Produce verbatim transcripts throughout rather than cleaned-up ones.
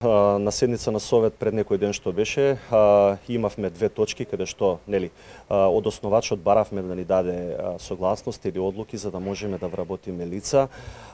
На седница на Совет пред некој ден што беше, имавме две точки каде што, нели, од основачот баравме да ни даде согласност или одлуки за да можеме да вработиме лица.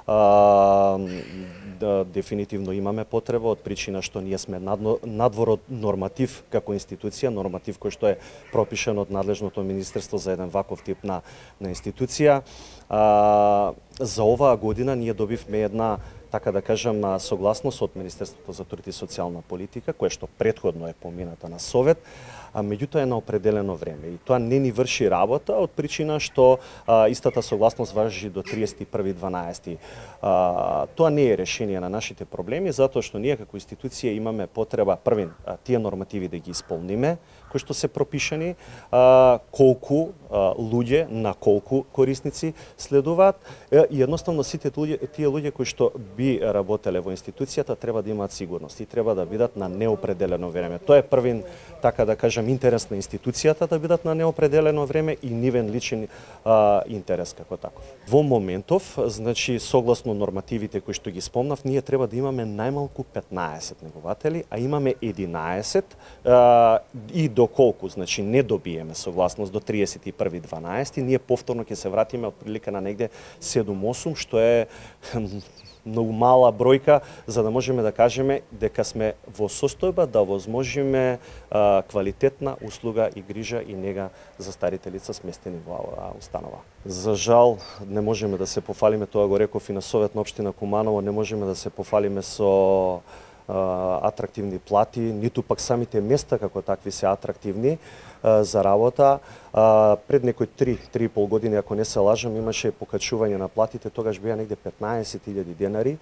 Да, дефинитивно имаме потреба од причина што ние сме надвор од норматив како институција, норматив кој што е пропишен од надлежното министерство за еден ваков тип на, на институција. А, за оваа година ние добивме една, така да кажам, согласност од Министерството за труд и социјална политика, кое што претходно е помината на Совет, а меѓутоа е на определено време. И тоа не ни врши работа од причина што а, истата согласност важи до триесет и први дванаести. А, тоа не е решение на нашите проблеми, затоа што ние како институција имаме потреба првин тие нормативи да ги исполниме, кои што се пропишани, а, колку а, луѓе на колку корисници следуваат, и едноставно сите луѓе, тие луѓе кои што би работеле во институцијата треба да имаат сигурност и треба да бидат на неопределено време. Тоа е првин, така да кажам, интерес на институцијата да бидат на неопределено време и нивен личен а, интерес како таков. Во моментов, значи согласно нормативите кои што ги спомнав, ние треба да имаме најмалку петнаесет негователи, а имаме единаесет а, и доколку, значи не добиеме согласност до триесет и први дванаести, ние повторно ќе се вратиме од прилика на негде седум-осум, што е многу мала бројка за да можеме да кажеме дека сме во состојба да возможиме а, квалитетна услуга и грижа и нега за старите лица сместени во оваа установа. За жал не можеме да се пофалиме, тоа го реков и на Совет на општина Куманово, не можеме да се пофалиме со атрактивни плати, ниту пак самите места како такви се атрактивни а, за работа. А, пред некои три три и пол години, ако не се лажам, имаше покачување на платите, тогаш беа негде петнаесет илјади денари.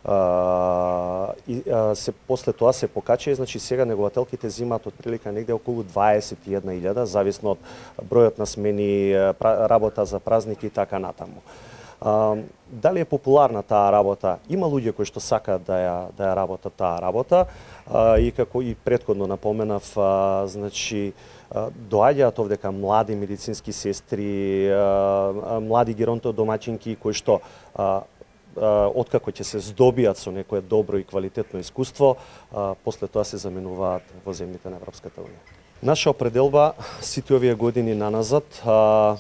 А, и а, се после тоа се покача, значи сега негователките зимаат од прилика негде околу дваесет и една илјада, зависно од бројот на смени, работа за празники и така натаму. Uh, дали е популарна таа работа? Има луѓе кои што сакаат да ја да ја работат таа работа, uh, и како и претходно напоменав, uh, значи uh, доаѓаат овдека млади медицински сестри, uh, млади геронтодомаќинки кои што uh, uh, откако ќе се здобиат со некое добро и квалитетно искуство, uh, после тоа се заменуваат во земјите на Европската унија. Наша определба сите овие години наназад uh,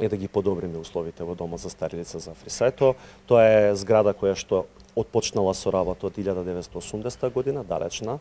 е да ги подобриме условите во Домот за стари лица за Африсајто. Тоа е зграда која што отпочнала со работа од илјада деветстотини и осумдесета година, далечна.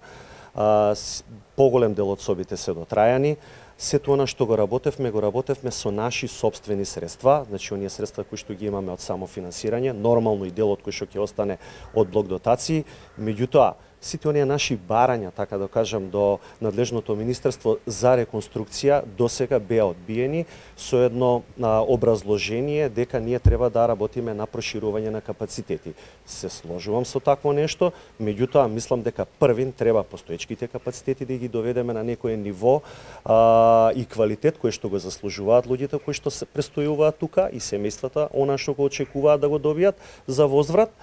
Поголем дел од собите се дотрајани. Сето она што го работевме, го работевме со наши собствени средства, значи оние средства кои што ги имаме од самофинансирање, нормално и делот кој што ќе остане од блок дотации, меѓутоа сите оние наши барања, така да кажам, до надлежното министерство за реконструкција досега беа одбиени со едно а, образложение дека ние треба да работиме на проширување на капацитети. Се сложувам со такво нешто, меѓутоа мислам дека првин треба постоечките капацитети да ги доведеме на некое ниво а, и квалитет кој што го заслужуваат луѓето кои што се престојуваат тука и семејствата, она што го очекуваат да го добијат за возврат.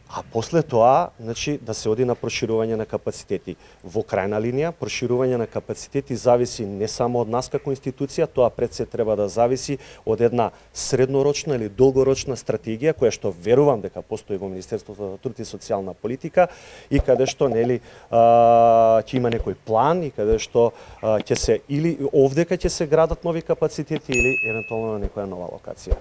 А после тоа, значи, да се оди на проширување на капацитети. Во крајна линија, проширување на капацитети зависи не само од нас како институција, тоа пред се треба да зависи од една среднорочна или долгорочна стратегија која што верувам дека постои во Министерството за труд и социјална политика и каде што, нели, ќе има некој план и каде што ќе се или овдека ќе се градат нови капацитети или евентуално на некоја нова локација.